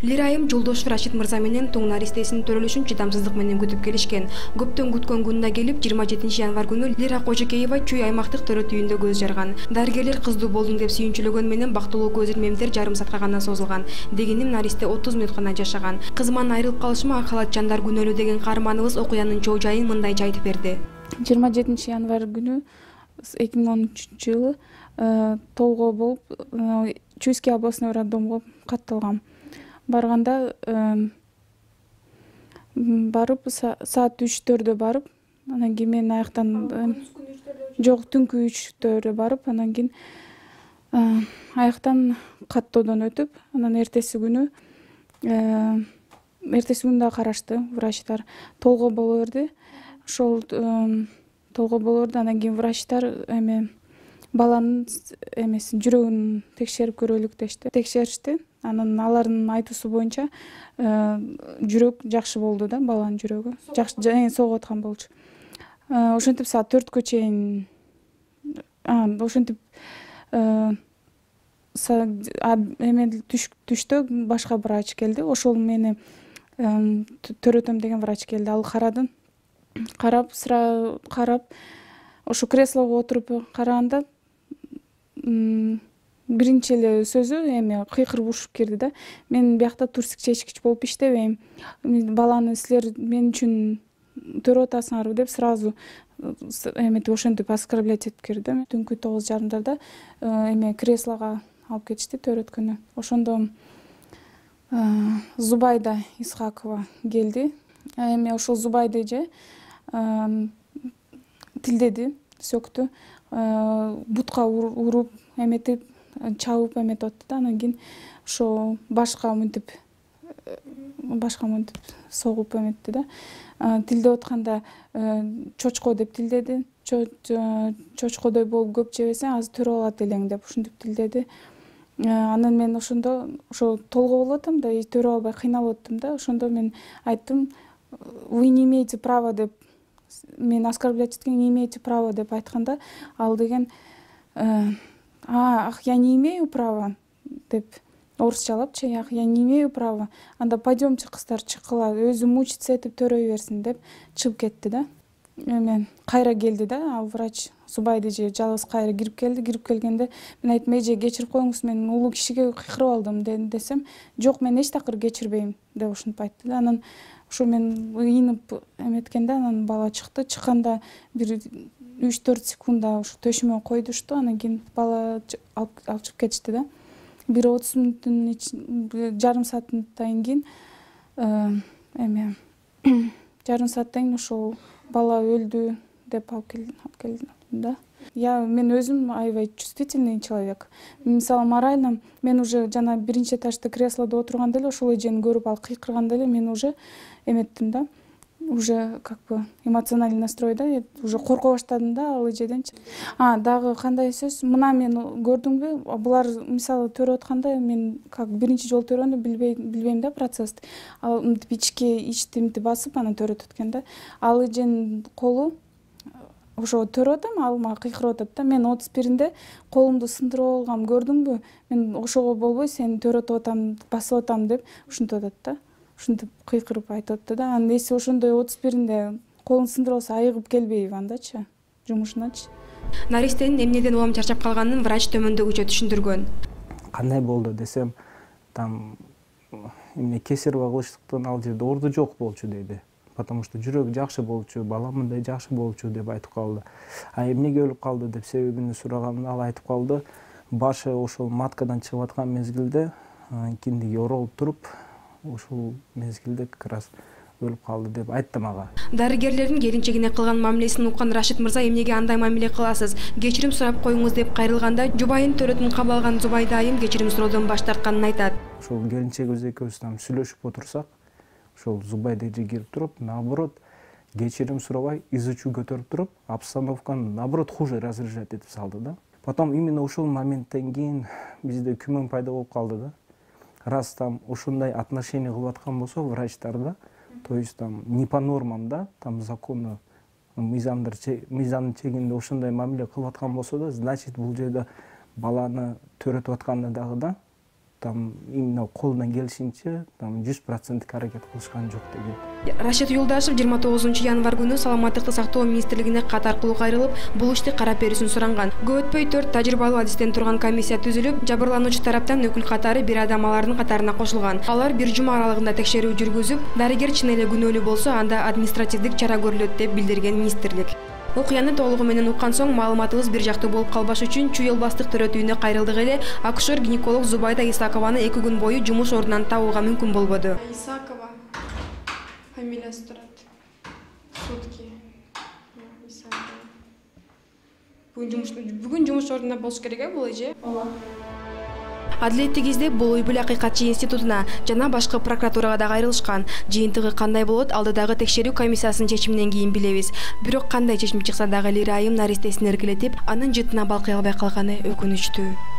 Лира айым Жолдошев Рашид мырза менен тоң наристесинин төрөлүшүн чыдамсыздык менен күтүп келишкен. Көптөн күткөн күнүнө келип 27 январь күнү Лира Кожокеева Чүй аймактык төрөт үйүндө көз жарган. Дарыгерлер кыздуу болдуң деп сүйүнчүлөгөн менен бактылуу көз ирмемдер жарым саатка гана созулган. Дегеним наристе 30 мүнөт гана жашаган. Кызыман айрылып калышыма ак халат жандар күнөөлүү деген каарманыбыз окуянын чоо жайын мындайча айтып берди. 27 январь күнү 2013-жылы толгоо болуп Чуйский областной роддомго катталгам. Барганда барып саат 3-4дө барып, анан кийин мен аяктан жок түнкү 3-төрдө барып, анан кийин аяктан каттоодон өтүп, анан эртеси күнү да карашты врачтар. Толгоо боло берди. Ошол толгоо боло берди. Анан кийин врачтар баланын жүрөгүн текшерип көрөлүк дешти. Текшеришти. Анан алардын айтуусу боюнча жүрөк жакшы болду да, баланын жүрөгү. Жакшы согуп аткан болчу. Ошентип саат 4кө чейин ошентип түштө башка врач келди. Ошол мени төрөтөм деген врач келди. Ал карады. Карап, ошо креслого отуруп караганда биринчи эле сөзү кыйкырып ушуп кирди да. Мен биякта турсик чечкич болуп иштебейм. Баланы силер мен үчүн төрөп атасыңарбы деп сразу ошентип оскорблять этип кирди. Түнкү 9:30 креслого алып кетишти төрөткөнү. Ошондо Зубайда Исхакова келди. Ошол Зубайды же тилдеди, сөктү, бутка уруп, чабып атты да. Анан кийин ошо башка мынтип согуп эметти да. Тилдеп атканда чочко деп тилдеди. Чочкодой болуп көп жебесең азыр төрөп алат элең деп ушинтип тилдеди. Анан мен ошондо толгоо болуп атам да, төрөп албай кыйналып аттым да. Ошондо мен айттым, вы не имеете права деп, мен оскорблять эткен, не имеете права деп айтканда, ал деген ах, я не имею права деп орусчалапчы, ах, я не имею права. Анда пойдемчи кыздар чыккыла, өзү мучиться этип төрөй берсин деп чыгып кетти да. Мен кайра келди да, ал врач Зубайды же жалгыз кайра кирип келди. Кирип келгенде мен айттым, эже кечирип коюңуз, мен улуу кишиге кыйкырып алдым десем, жок, мен эч такыр кечирбейм деп ушинтип айтты да. Анан ошо мен ыйынып эметкенде анан бала чыкты. Чыкканда бир 3-4 секундда ошо төшүмө койдушту. Анан кийин бала алып чыгып кетишти да. Бир 30 мүнөттүн жарым сааттан кийин жарым сааттан кийин ошол бала өлдү деп алып келдим да. Мен өзүм аябай чувствительный человек. Мисалы, морально мен уже жана биринчи этажда креслодо отурганда эле ошол эжени көрүп ал кыйкырганда эле мен уже эметтим да. Уже эмоциональный настройда, уже корко баштадым да ал эжеденчи. Дагы кандай сөз, мына мен көрдүңбү, булар мисалы төрөп атканда мен биринчи жолу төрөгөндө билбейм да процессти. Ал мынтип ичти мынтип басып анан төрөтүп аткан да. Ал эженин колу ошо төрөп атам, ал мага кыйкырып атат да. Мен 31-нде колумду сындырып алгам, көрдүңбү? Мен ошого болбой сени төрөтүп атам, басып атам деп ушинтип атат да. Ушинтип кыйкырып айтып атты да. Анан эси ошондой 31-нде колун сындырып алса айыгып келбейби андачы, жумушуначы. Наристенин эмнеден улам чарчап калганын врач төмөндөгүчө түшүндүргөн. Кандай болду десем, там кесарево кылыштыктан ал жерде орду жок болчу деди. Потому что жүрөк жакшы болчу, бала мындай жакшы болчу деп айтып калды. Эмнеге өлүп калды деп себебин сураганда ал айтып калды, башы ошол маткадан чыгып аткан мезгилде киндиги оролуп туруп, ушул мезгилде как раз өлүп калды деп айтты мага. Дарыгерлердин келинчегине кылган мамилесин уккан Рашид мырза, эмнеге андай мамиле кыласыз? Кечирим сурап коюңуз деп кайрылганда, жубайын төрөтүн кабыл алган Зубайда айым кечирим суроодон баш тартканын айтат. Ошол келинчегибиз экөөбүз сүйлөшүп отурсак, ошол Зубайда эже кирип туруп, наоборот, кечирим сурабай, изучу көтөрүп туруп, обстановканы наоборот хуже разряжать этип салды да. Потом именно ошол моменттен кийин бизде күмөн пайда болуп калды да. Раз там ушундай отношение кылып аткан болсо врачтар да, то есть там не по нормам да, там закону мыйзамдын чегинде ушундай мамиле кылып аткан болсо да, значит бул жерде баланы төрөтүп атканы дагы да там именно колунан келишинче там 100% аракет кылышкан жок деген. Рашид Юлдашев 29 январь күнү саламаттыкты сактоо министрлигине кат аркылуу кайрылып, бул ишти карап берүүсүн суранган. Көп өтпөй 4 тажрыйбалуу адистен турган комиссия түзүлүп, жабырлануучу тараптан өкүл катары бир адам алардын катарына кошулган. Алар бир жума аралыгында текшерүү жүргүзүп, дарыгер чын эле күнөөлүү болсо, анда административдик чара көрүлөт деп билдирген министрлик. Окуяны толугу менен уккан соң маалыматыбыз бир жактуу болуп калбаш үчүн Чүй эл бастык төрөтүүнө кайрылдык эле акушер-гинеколог Зубайда Исакованы 2 күн бою жумуш ордунан табууга мүмкүн болбоду. Исакова фамилиясы турат. Сутки. Исакова. Бүгүн жумуш ордунда болуш керек бул эже? Ооба. Адилеттик издеп бул үй бүл акыйкатчы институтуна жана башкы прокуратурага да кайрылышкан. Жыйынтыгы кандай болот, алдыдагы текшерүү комиссиясынын чечиминен кийин билебиз. Бирок кандай чечим чыкса дагы Лира айым наристесин эркелетип, анын жытына балкый албай калганы өкүнүчтүү.